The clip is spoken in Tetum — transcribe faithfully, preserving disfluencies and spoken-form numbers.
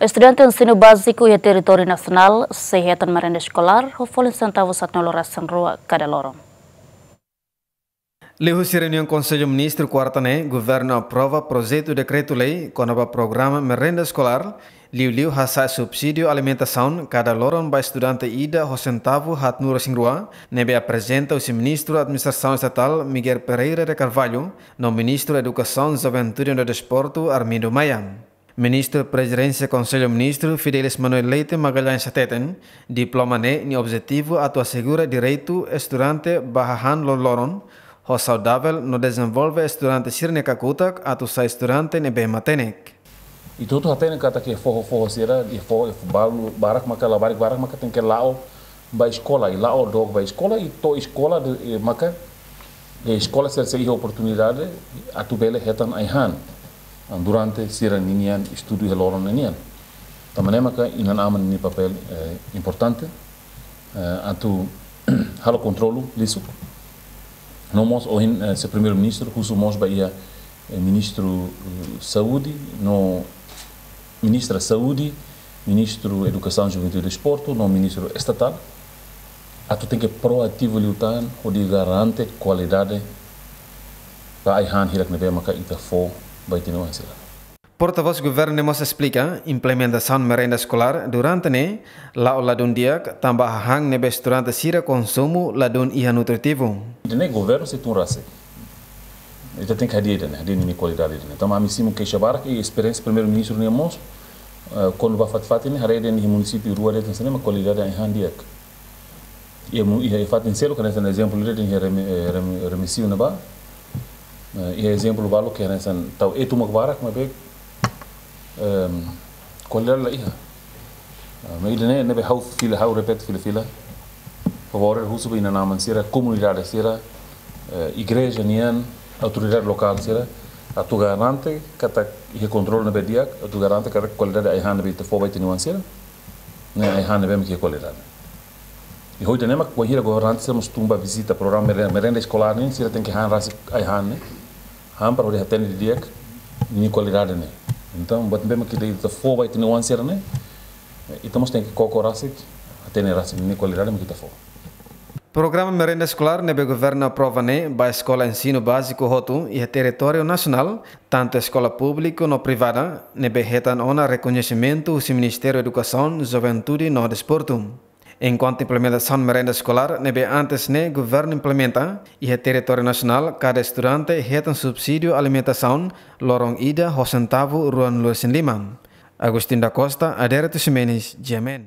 Estudante ensinu báziku iha territóriu nasionál sei hetan merenda eskolár ho folin sentavu haatnulu-resin-rua kada loron. Liuhusi reuniaun Konsellu Ministru kuarta ne'e, governu aprova projetu dekretu-lei kona-ba programa merenda eskolár, liuliu hasa'e subsídiu alimentasaun kada loron ba estudante ida ho sentavu haatnulu-resin-rua, ne'ebé aprezenta husi Ministru Administrasaun Estatál Miguel Pereira de Carvalho, no Ministru Edukasaun, Juventude no Desportu Armindo Maia. Ministru Prezidénsia Konsellu Ministru Fidelis Manuel Leite Magalhães hateten, diploma ne'e nia objetivu atu asegura direitu estudante ba hahán loroloron, ho saudavel no dezenvolve estudante sira-nia kakutak atu sai estudante ne'ebé matenek. Ita hotu hatene katak iha foho-foho sira, iha foho, iha foho balu, barak maka, labarik barak maka tenke la'o ba eskola, i la'o dook ba eskola, i to'o eskola de'it, eh, maka, eh, eskola sira sei iha oportunidade atu bele hetan ai-han, ah, durante sira-nian estudu iha loron ninian. Tanba ne'e maka inan-aman nia papél, eh, importante, eh, atu halo kontrolu lisuk. No mós ohin, eh, se Primeiru-Ministru husu mós ba iha, eh, Ministru, eh, Saúde, no Ministra Saúde, Ministru Edukasaun, Juventude e Desportu, no Ministru Estatál, atu tenke proativu liután hodi garante kualidade ba ai-han hirak ne'ebé maka ita fó ba ita-nia oan sira. Portavós Governu ne'e mós esplika, implementasaun merenda eskolár durante ne'e la'o ladún di'ak, tanba hahán ne'ebé estudante sira konsumu ladún iha nutritivu. Ida-ne'e Governu sei tun rasik. Ita tenke hadi'a ida-ne'e, hadi'a ninia kualidade ida-ne'e. Tanba ami simu keixa barak, i esperiénsia Primeiru-Ministru nian mós, eh, kuandu bá fatin-fatin ne'e, haree de'it iha munisípiu rua de'it hanesan ne'e mak kualidade ai-han di'ak. Iha mu-, iha fatin seluk, hanesan ezemplu de'it iha Reme-, eh, Reme-, Remexio ne'ebá. Eh, iha ezemplu balu ke hanesan tau etu mak barak, maibé, ehm, kualidade la iha. Ah, maibé ida-ne'e, ne'ebé ha'u fila, ha'u repete fila-fila. Favór husu ba inan-aman sira, komunidade sira, eh, igreja nian, autoridade lokál sira, atu garante katak iha kontrolu ne'ebé di'ak, atu garante katak kualidade ai-han ne'ebé ita fó ba ita-nia oan sira, ne'e ai-han ne'ebé mak iha kualidade. I ho ida-ne'e mak bainhira governante sira mós tun bá vizita programa mere-, merenda eskolár nian, sira tenke han rasik ai-han ne'e. Han para hodi hatene didi'ak ninia kualidade ne'e. Entaun, buat ne'ebé mak ita, ita fó ba ita-nia oan sira ne'e, ita mós tenke koko rasik, hatene rasik ninia kualidade mak ita fó. Programa merenda eskolár ne'ebé governu aprova ne'e ba eskola ensinu báziku hotu iha territóriu nasionál, tantu eskola públiku no privada, ne'ebé hetan ona rekoñesimentu husi Ministériu Edukasaun, Juventude no Desportu. Enkuantu implementasaun merenda eskolár ne'ebé antes ne'e governu implementa, iha territóriu nasionál kada estudante hetan subsídiu alimentasaun loron ida ho sentavu ruanulu-resin-lima. Agostinho da Costa, Adérito Ximenes, G M N.